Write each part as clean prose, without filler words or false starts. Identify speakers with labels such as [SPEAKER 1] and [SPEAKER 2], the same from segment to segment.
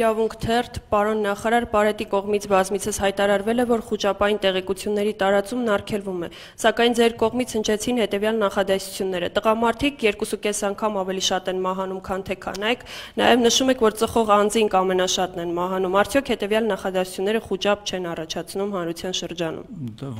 [SPEAKER 1] Իրավունք թերթ, պարոն նախարար, Պարետի կողմից բազմիցս հայտարարվել է, որ խուճապային տեղեկությունների տարածումն արգելվում է, սակայն ձեր կողմից հնչեցին հետևյալ նախադասությունները. տղամարդիկ 2.5 անգամ ավելի շատ են մահանում, քան թե կանայք, նաև նշում եք, որ ծխող անձինք ամենաշատն են մահանում, արդյոք հետևյալ նախադասությունները խուճապ չեն առաջացնում հանրության շրջանում։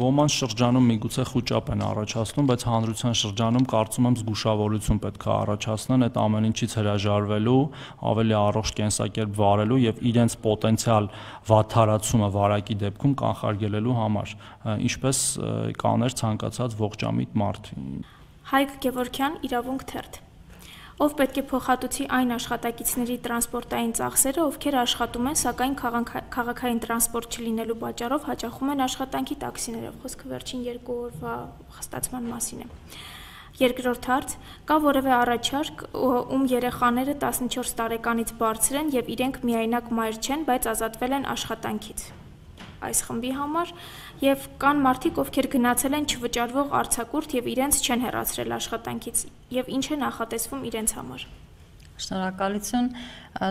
[SPEAKER 2] Ոմանց շրջանում միգուցե խուճապ են առաջացնում, բայց հանրության շրջանում կարծում եմ զգուշավորություն պետք է առաջացնեն այդ ամեն ինչից հրաժարվելու, ավելի առողջ կենսակերպ վարելու եւ իրենց պոտենցիալ վատթարացումը վարակի դեպքում կանխարգելելու համար, ինչպես կաներ ցանկացած ողջամիտ մարդ։
[SPEAKER 3] Հայկ Գևորգյան, Իրավունք թերթ։ Ով պետք է փոխհատուցի այն աշխատակիցների տրանսպորտային ծախսերը, ովքեր աշխատում են, սակայն քաղաքային տրանսպորտ չլինելու պատճառով հաճախում են աշխատանքի տաքսիներով։ Խոսքը վերջին 2 օրվա խստացման մասին է։ Երկրորդ հարց. կա որևէ առաջարկ, ում երեխաները 14 տարեկանից բարձր են եւ իրենք միայնակ մայր չեն, բայց ազատվել են աշխատանքից այս խմբի համար, եւ կան մարդիկ, ովքեր գնացել են չվճարվող արձակուրդ եւ իրենց չեն հեռացրել աշխատանքից, եւ ինչ է նախատեսվում իրենց համար։
[SPEAKER 4] Շնորհակալություն,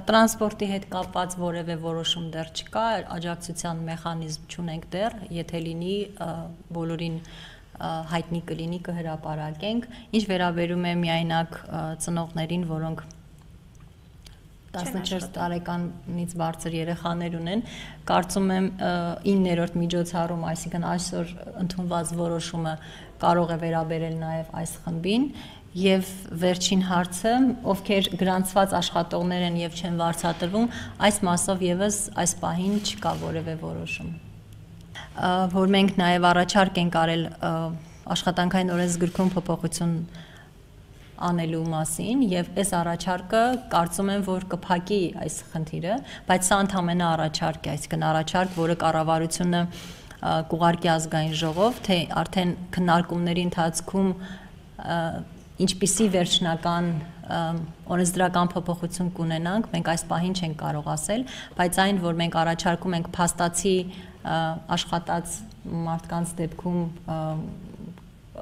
[SPEAKER 4] տրանսպորտի հետ կապված որևէ որոշում դեռ չկա, աջակցության մեխանիզմ չունենք դեռ, եթե լինի բոլորին հայտնի կլինի կհրապարակենք, ինչ վերաբերում է միայնակ ծնողներին, որոնք 14 տարեկանից բարձր երեխաներ ունեն, կարծում եմ 9-րդ միջոցառում, այսինքն այսօր ընդունված որոշումը կարող է վերաբերել նաև այս խմբին, եւ վերջին հարցը, ովքեր գրանցված աշխատողներ են եւ չեն վարձատրվում, այս մասով եւս այս պահին չկա որևէ որոշում։ Որ մենք նաև առաջարկ ենք արել աշխատանքային օրենսգրքում փոփոխություն անելու մասին եւ այս առաջարկը կարծում եմ որ կփակի այս խնդիրը, բայց սա ընդամենը առաջարկ է, այսինքն առաջարկ, որը կառավարությունը կուղարկի ազգային ժողով, թե արդեն քննարկումների ընթացքում ինչպիսի վերջնական օրենսդրական փոփոխություն կունենանք, մենք այս պահին չենք կարող ասել, բայց այն, որ մենք առաջարկում ենք փաստացի աշխատած մարդկանց դեպքում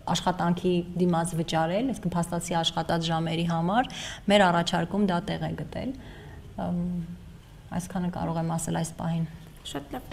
[SPEAKER 4] աշխատանքի դիմաց վճարել, այսինքն փաստացի աշխատած ժամերի համար, մեր առաջարկում դա տեղ է գտել, այսքանը կարող եմ ասել այս պահին։
[SPEAKER 3] Շատ լավ։